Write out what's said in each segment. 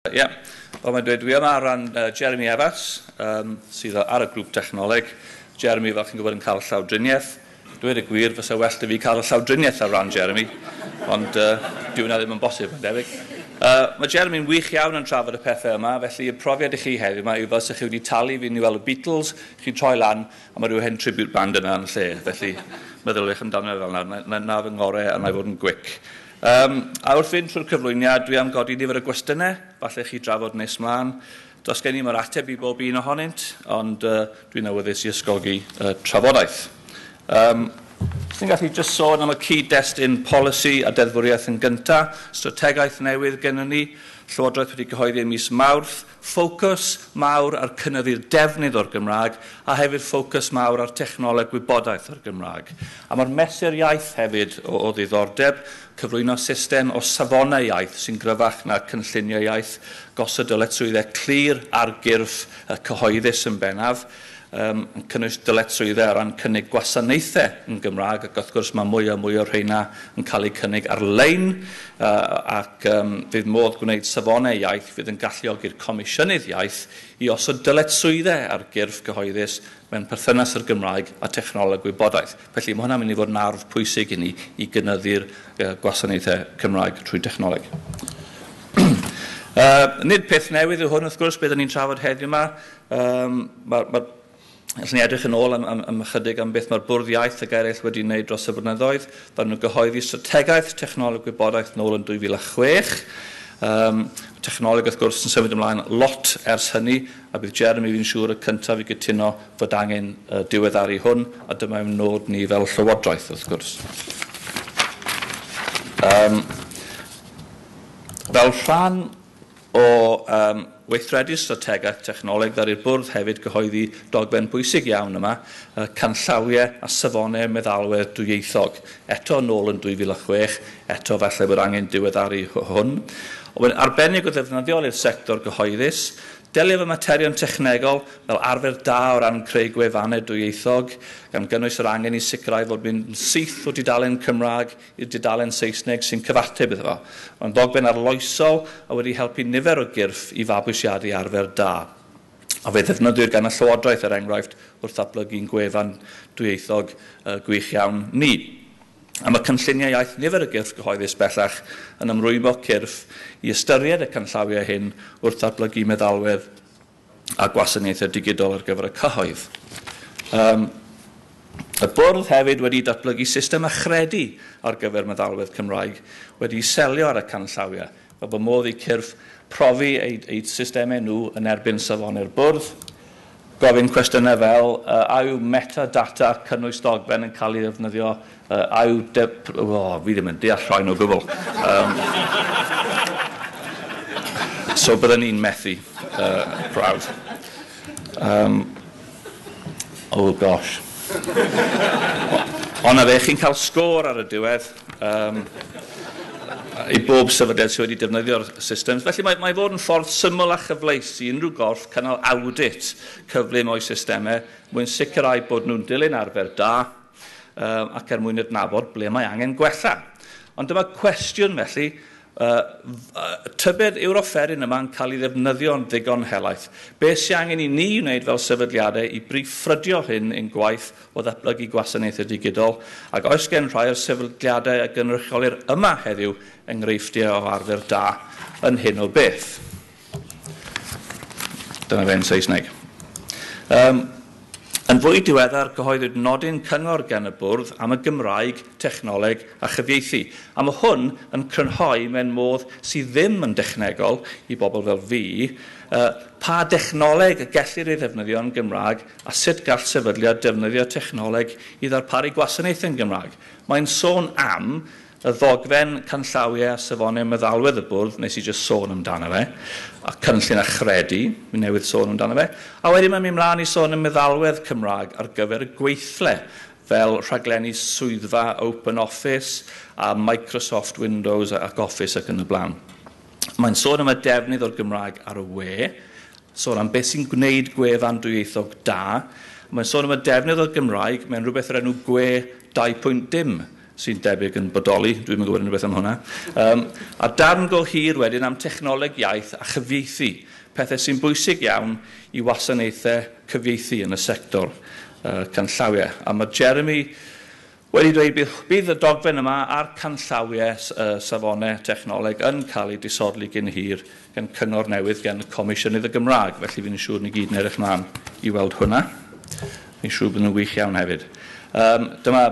Ie, yeah. Fel mae'n dweud, dwi yma ar ran Jeremy Evans, sydd ar y grŵp technoleg. Jeremy, fel chi'n gwybod, yn cael llawdriniaeth. Dweud y gwir, fysa well 'da fi cael y llawdriniaeth ar ran Jeremy, ond dyw hwnna ddim yn bosib, yn debyg. Mae Jeremy'n wych iawn yn trafod y pethau yma, felly y profiad i chi heddiw yma yw fel 'sa chi wedi talu fi i weld y Beatles, chi'n troi lan, a mae rhyw hen tribute band yna yn lle. Felly, meddyliwch amdano fel yna, na fy ngorau a na i fod yn gwic. A wrth fynd trwy'r cyflwyniad, dwi am godi nifer o gwestiynau, falle chi drafod nes mlaen. Does gen i'm yr ateb i bob un ohonynt, ond dwi'n awyddus i ysgogi trafodaeth. Ti'n gallu jyst sôn am y cyd-destun polisi a deddfwriaeth yn gyntaf, strategaeth newydd gennym ni, Llywodraeth wedi cyhoeddi ym mis Mawrth, ffocws mawr ar cynyddu'r defnydd o'r Gymraeg a hefyd ffocws mawr ar technoleg gwybodaeth o'r Gymraeg. A mae'r mesur iaith hefyd o ddiddordeb, cyflwyno system o safonau iaith sy'n gryfach na cynlluniau iaith, gosod dyletswyddau clir ar gyrff cyhoeddus yn bennaf, yn cynnwys dyletswyddau o ran cynnig gwasanaethau yn Gymraeg, ac wrth gwrs mae mwy a mwy o'r rheina yn cael eu cynnig ar-lein, ac fydd modd gwneud safonau iaith fydd yn galluogi'r Comisiynydd Iaith i osod dyletswyddau ar gyrff cyhoeddus mewn perthynas â'r Gymraeg a technoleg gwybodaeth. Felly mae hwnna'n mynd i fod yn arf pwysig i ni i gynyddu'r gwasanaethau Cymraeg trwy technoleg. Nid peth newydd yw hwn, wrth gwrs, beth ni'n trafod heddiw yma. Allwn ni edrych yn ôl am ychydig am beth mae'r Bwrdd Iaith ac eraill wedi wneud dros y blynyddoedd. Ddaru nhw gyhoeddi strategaeth technoleg gwybodaeth nôl yn 2006. Technoleg, wrth gwrs, yn symud ymlaen lot ers hynny, a bydd Jeremy, fi'n siŵr, y cyntaf i gytuno fod angen diweddaru hwn, a dyma yw'n nod ni fel Llywodraeth, wrth gwrs. Fel rhan o weithredu strategaeth technoleg, ddaru'r bwrdd hefyd gyhoeddi dogfen bwysig iawn yma, canllawiau a safonau meddalwedd dwyieithog. Eto nôl yn 2006, eto falle bod angen diweddaru hwn. Ond arbennig o ddefnyddiol i'r sector gyhoeddus, delio efo materion technegol fel arfer da o ran creu gwefannau dwyieithog, gan gynnwys yr angen i sicrhau fod mynd yn syth o dudalen Cymraeg i'r dudalen Saesneg sy'n cyfateb iddo fo. Mae'n ddogfen arloesol a wedi helpu nifer o gyrff i fabwysiadu arfer da. A fe ddefnyddiwyd gan y Llywodraeth, er enghraifft, wrth ddatblygu'n gwefan dwyieithog gwych iawn ni. A mae cynlluniau iaith nifer o gyrff gyhoeddus bellach yn ymrwymo cyrff i ystyried y canllawiau hyn wrth ddatblygu meddalwedd a gwasanaethau digidol ar gyfer y cyhoedd. Y bwrdd hefyd wedi datblygu system achredu ar gyfer meddalwedd Cymraeg wedi selio ar y canllawiau, fel bod modd i cyrff profi eu systemau nhw yn erbyn safonau'r bwrdd. Gofyn cwestiynau fel, a yw metadata cynnwys dogfen yn cael ei ddefnyddio, a yw... fi ddim yn deall rhain o gwbl. So byddwn ni'n methu prawf. Oh gosh. Ond na fe, chi'n cael sgôr ar y diwedd i bob sefydliad sydd wedi defnyddio'r systems. Felly mae fod yn ffordd syml a chyfleus i unrhyw gorff cynnal audit cyflym o'i systemau mwyn sicrhau bod nhw'n dilyn arfer da ac er mwyn adnabod ble mae angen gwella. Ond dyma cwestiwn felly, tybed yw'r offeryn yma'n cael ei ddefnyddio'n ddigon helaeth? Be sy'n angen i ni wneud fel sefydliadau i brif ffrydio hyn ein gwaith o ddatblygu gwasanaethau digidol, ac oes gen rhai o'r sefydliadau a gynrychiolir yma heddiw enghreifftiau o arfer da yn hyn o beth? Dyna fe'n Saesneg. Yn fwy diweddar, cyhoeddwyd nodyn cyngor gan y bwrdd am y Gymraeg, technoleg a chyfieithu. A mae hwn yn crynhoi mewn modd sydd ddim yn dechnegol i bobl fel fi, pa dechnoleg y gellir ei ddefnyddio yn Gymraeg a sut gall sefydliad defnyddio technoleg i ddarparu gwasanaethau yn Gymraeg. Mae'n sôn am y ddogfen canllawiau a safonau meddalwedd y bwrdd, nes i jyst sôn amdano fe, a cynllun achredu, mi newydd sôn amdano fe, a wedyn mae'n mynd mlaen i sôn am meddalwedd Cymraeg ar gyfer y gweithle, fel rhaglenni swyddfa Open Office a Microsoft Windows ac Office ac yn y blaen. Mae'n sôn am y defnydd o'r Gymraeg ar y we, sôn am beth sy'n gwneud gwefan dwyieithog da, mae'n sôn am y defnydd o'r Gymraeg mewn rhywbeth o'r enw gwe 2.dim, sy'n debyg yn bodoli, dwi'm yn gwybod unrhyw beth am hwnna. A darn go hir wedyn am technoleg iaith a chyfieithu, pethau sy'n bwysig iawn i wasanaethau cyfieithu yn y sector canllawiau. A mae Jeremy wedi dweud bydd y dogfen yma a'r canllawiau safonau technoleg yn cael eu disodli gyn hir gan cyngor newydd gan y Comisiynydd y Gymraeg, felly fi'n siŵr ni gyd yn edrych mlaen i weld hwnna. Fi'n siŵr bod nhw'n wych iawn hefyd. Dyma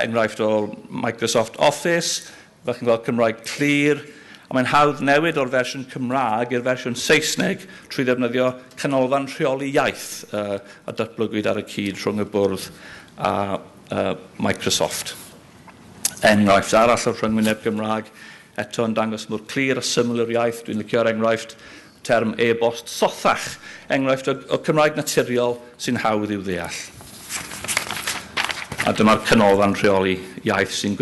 enghraifft o Microsoft Office, fel chi'n gweld Cymraeg clir, a mae'n hawdd newid o'r fersiwn Cymraeg i'r fersiwn Saesneg trwy ddefnyddio canolfan rheoli iaith a datblygwyd ar y cyd rhwng y bwrdd a Microsoft. Enghraifft arall o'r rhyngwyneb Gymraeg, eto yn dangos mor clir a syml yr iaith. Dwi'n licio'r enghraifft term e-bost sothach, enghraifft o Cymraeg naturiol sy'n hawdd i'w ddeall. A dyma'r canolfan rheoli iaith sy'n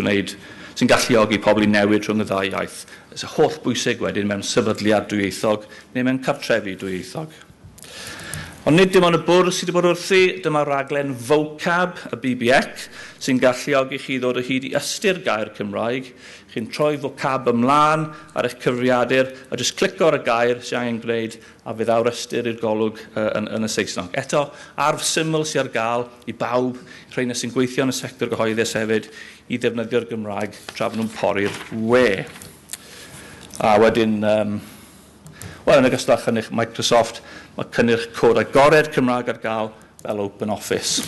galluogi pobl i newid rhwng y ddau iaith. It's holl bwysig wedyn mewn sefydliad dwyieithog neu mewn cartrefi dwyieithog. Ond nid dim ond y bwrdd sydd wedi bod wrthi, dyma raglen Vocab, y BBEC, sy'n galluogi chi ddod o hyd i ystyr gair Cymraeg. Chi'n troi vocab ymlaen ar eich cyfrifiadur a jyst clicio ar y gair sy'n angen gwneud a fydd awr ystyr i'r golwg yn y Saesneg. Eto, arf syml sydd ar gael i bawb, rheina sy'n gweithio yn y sector gyhoeddus hefyd, i ddefnyddio'r Gymraeg tra bod nhw'n pori'r we. A wedyn, wel, yn ogystal â chynnyrch Microsoft, mae cynnyrch cod agored Cymraeg ar gael fel Open Office.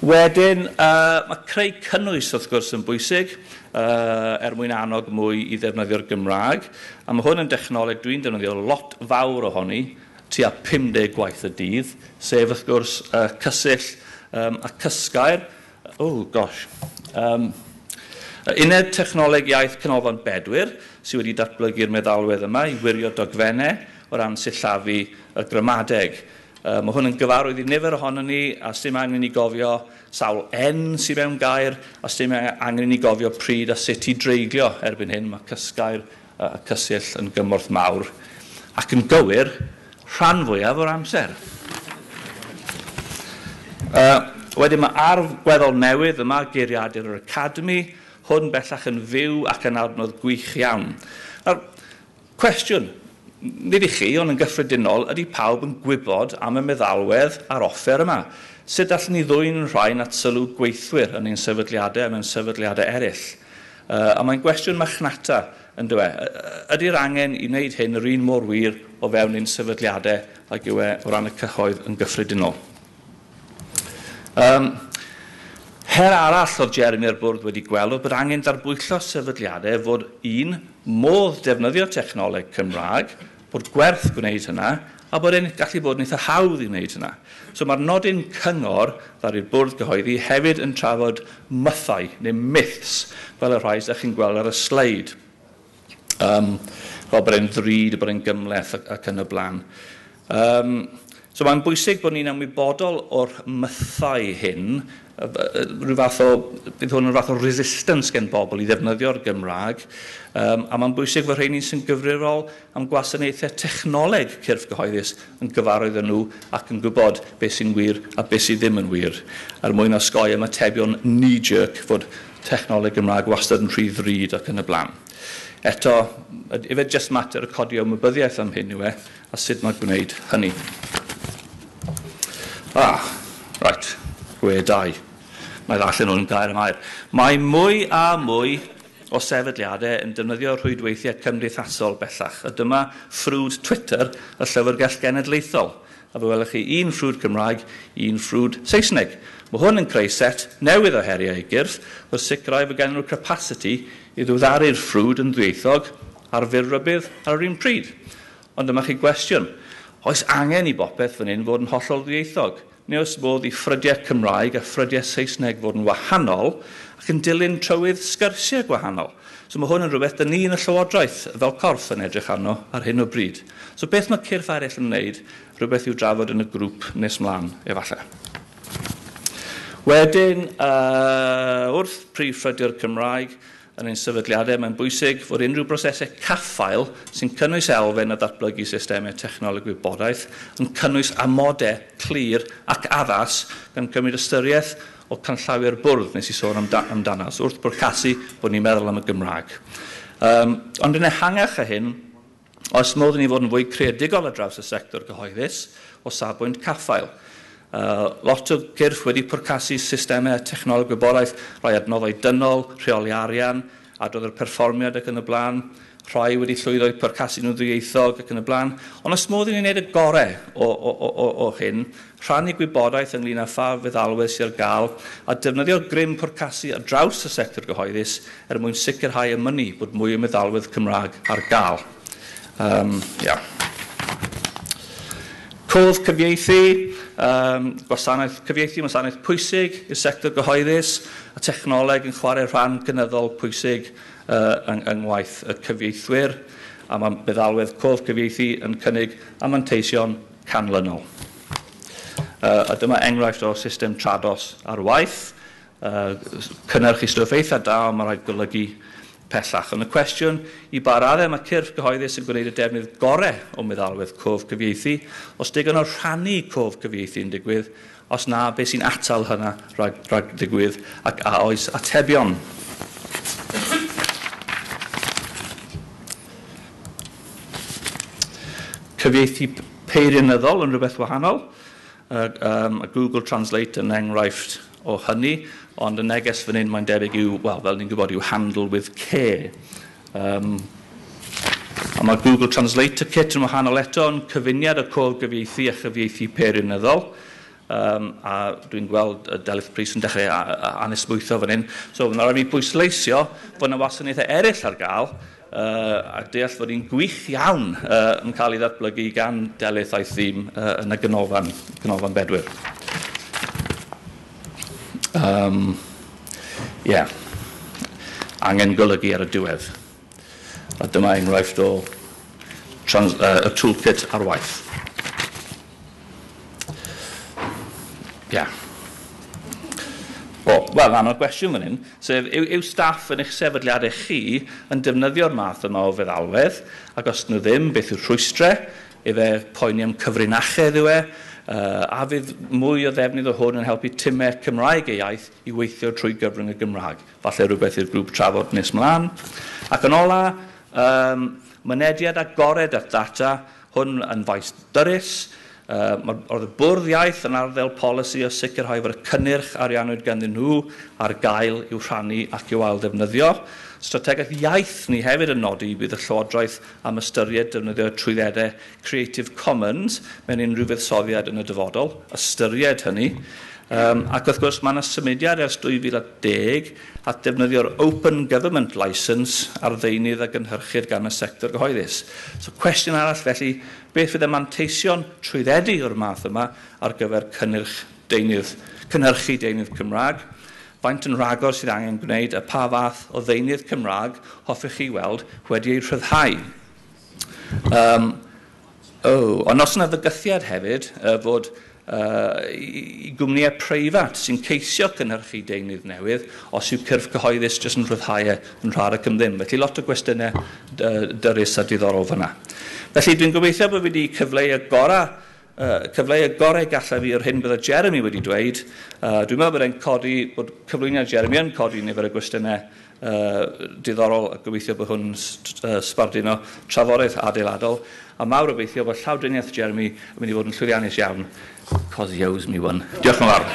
Wedyn, mae creu cynnwys wrth gwrs yn bwysig er mwyn annog mwy i ddefnyddio'r Gymraeg. A mae hwn yn dechnoleg dwi'n defnyddio lot fawr ohoni, tua 50 gwaith y dydd, sef wrth gwrs cysill a cysgair. Oh, gosh. Uned Technoleg Iaith Canolfan Bedwyr sydd wedi datblygu'r meddalwedd yma i wirio dogfennau o ran sillafu y gramadeg. Mae hwn yn gyfarwydd i nifer ohonon ni, a sdim angen i ni gofio sawl N sydd mewn gair, a sdim angen i ni gofio pryd a sut i dreiglio erbyn hyn. Mae cysgair a cysill yn gymorth mawr ac yn gywir rhan fwyaf o'r amser. Wedyn mae arf gweddol newydd yma, Geiriadur yr Academi, hwn bellach yn fyw ac yn adnodd gwych iawn. Nawr, cwestiwn, nid i chi, ond yn gyffredinol, ydy pawb yn gwybod am y meddalwedd a'r offer yma? Sut allwn ni ddwyn rhain at sylw gweithwyr yn ein sefydliadau a mewn sefydliadau eraill? A mae'n gwestiwn machnata, yn dyw e. Ydy'r angen i wneud hyn yr un mor wir o fewn ein sefydliadau ag yw e o ran y cyhoedd yn gyffredinol? Her arall oedd Jeremy a'r bwrdd wedi gweld oedd bod angen darbwyllo sefydliadau fod un modd defnyddio technoleg Cymraeg, bod gwerth gwneud hynna, a bod e'n gallu bod yn eitha hawdd i wneud hynna. So mae'r nodyn cyngor ddaru'r bwrdd gyhoeddi hefyd yn trafod mythau neu myths fel y rhai sydd chi'n gweld ar y sleid. Fel bod e'n ddrud, bod e'n gymhleth ac yn y blaen. So mae'n bwysig bod ni'n ymwybodol o'r mythau hyn, rhyw fath o, bydd hwn yn fath o resistance gen bobl i ddefnyddio'r Gymraeg, a mae'n bwysig fod rheini sy'n gyfrifol am gwasanaethau technoleg cyrff gyhoeddus yn gyfarwydd â nhw ac yn gwybod beth sy'n wir a beth sydd ddim yn wir, er mwyn osgoi ymatebion knee-jerk fod technoleg Gymraeg wastad yn rhy ddrud ac yn y blaen. Eto, ife jyst mater y codi ymwybyddiaeth am hyn yw e, a sut mae gwneud hynny. Ah, right, gwe 2. Mae ddarllen hwn yn gair am air. Mae mwy a mwy o sefydliadau yn defnyddio rhwydweithiau cymdeithasol bellach. A dyma ffrwd Twitter y Llyfrgell Genedlaethol. A fe welwch chi un ffrwd Cymraeg, un ffrwd Saesneg. Mae hwn yn creu set newydd o heriau i gyrff wrth sicrhau fod gen nhw'r capacity i ddiweddaru'r ffrwd yn ddwyieithog ar fyr rybudd ar yr un pryd. Ond dyma chi gwestiwn. Oes angen i bopeth fan hyn fod yn hollol ddwyieithog? Neu oes modd i ffrydiau Cymraeg a ffrydiau Saesneg fod yn wahanol ac yn dilyn trywydd sgyrsiau gwahanol? So mae hwn yn rhywbeth dyn ni yn y Llywodraeth fel corff yn edrych arno ar hyn o bryd. So beth mae cyrff eraill yn wneud, rhywbeth i'w drafod yn y grŵp nes mlaen, efallai. Wedyn, wrth prif ffrydio'r Cymraeg yn ein sefydliadau, mae'n bwysig fod unrhyw brosesau caffael sy'n cynnwys elfen o ddatblygu systemau technoleg gwybodaeth yn cynnwys amodau clir ac addas gan cymryd ystyriaeth o canllawiau'r bwrdd nes i sôn amdano. So wrth bwrcasu bod ni'n meddwl am y Gymraeg. Ond yn ehangach a hyn, oes modd i ni fod yn fwy creadigol ar draws y sector gyhoeddus o safbwynt caffael. Lot o gyrff wedi pwrcasu systemau technoleg gwybodaeth, rhai adnoddau dynol, rheoli arian, adrodd yr perfformiad ac yn y blaen, rhai wedi llwyddo i pwrcasu nhw'n ddwyieithog ac yn y blaen. Ond os modd i ni wneud y gorau o hyn, rhannu gwybodaeth ynglyn â pha feddalwedd sydd ar gael a defnyddio grym pwrcasu ar draws y sector gyhoeddus er mwyn sicrhau y mynnu bod mwy o meddalwedd Cymraeg ar gael. Yeah. Cof cyfieithu, gwasanaeth cyfieithu, gwasanaeth pwysig i'r sector gyhoeddus, a technoleg yn chwarae rhan gynyddol pwysig yng ngwaith y cyfieithwyr, a mae meddalwedd cof cyfieithu yn cynnig a manteision canlynol. A dyma enghraifft o system Trados ar waith, cynnyrchu stwff eitha da, ond mae rhaid golygu pellach. Ond y cwestiwn i ba raddau mae cyrff gyhoeddus yn gwneud y defnydd gorau o meddalwedd cof cyfieithu, os digon o rhannu cof cyfieithu yn digwydd, os na, beth sy'n atal hynna rhag digwydd, ac a oes atebion. Cyfieithu peirianyddol yn rhywbeth wahanol. A Google Translate yn enghraifft o hynny, ond y neges fan hyn mae'n debyg yw, wel, fel ni'n gwybod, yw handle with care. A mae Google Translator Kit yn wahanol eto, yn cyfuniad o cof gyfieithu a chyfieithu peirianyddol. A dwi'n gweld Delyth Prys yn dechrau anesmwytho fan hyn. So, mae'n rhaid i mi bwysleisio fod yna wasanaethau eraill ar gael, a deall fod un gwych iawn yn cael ei ddatblygu gan Delyth a'i thîm yn y Ganolfan Bedwyr. Yeah. Angen golygu ar y diwedd. A dyma enghraifft o y toolkit ar waith. Yeah. O, wel, rhan o'r gwestiwn fan hyn, sef yw staff yn eich sefydliadau chi yn defnyddio'r math yma o feddalwedd, ac os nhw ddim, beth yw'r rhwystrau, efe poeni am cyfrinachedd yw e, a fydd mwy o ddefnydd o hwn yn helpu timau Cymraeg eu iaith i weithio trwy gyfrwng y Gymraeg. Falle rhywbeth i'r grŵp trafod nes mlaen. Ac yn ola, mynediad agored at ddata, hwn yn faes dyrys. Oedd y bwrdd iaith yn arddel polisi o sicrhau fod y cynnyrch ariannwyd ganddyn nhw ar gael i'w rhannu ac i'w ail-ddefnyddio. Strategaeth iaith ni hefyd yn nodi bydd y Llywodraeth am ystyried defnyddio trwyddedau Creative Commons mewn unrhyw fuddsoddiad yn y dyfodol. Ystyried hynny. Ac wrth gwrs mae yna symudiad ers 2010 at defnyddio'r Open Government Licence ar ddeunydd a gynhyrchir gan y sector gyhoeddus. So cwestiwn arall felly, beth fydd y manteision trwyddedu o'r math yma ar gyfer cynhyrchu deunydd Cymraeg? Faint yn rhagor sydd angen gwneud a pa fath o ddeunydd Cymraeg hoffech chi weld wedi ei rhyddhau? Ond os yna fygythiad hefyd fod i gwmnïau preifat sy'n ceisio cynhyrchu deunydd newydd, os yw cyrff cyhoeddus jyst yn rhyddhau yn rhad ac am ddim. Felly lot o gwestiynau dyrys a diddorol fyna. Felly dwi'n gobeithio bod fi wedi cyfleu y gorau gallaf fi o'r hyn bydde Jeremy wedi dweud. Dwi'n meddwl bod e'n codi, bod cyflwyniad Jeremy yn codi nifer o gwestiynau diddorol a gobeithio bod hwn sbarduno trafodaeth adeiladol. A mawr obeithio bod llawdriniaeth Jeremy yn mynd i fod yn llwyddiannus iawn, cos he owes me one. Diolch yn fawr.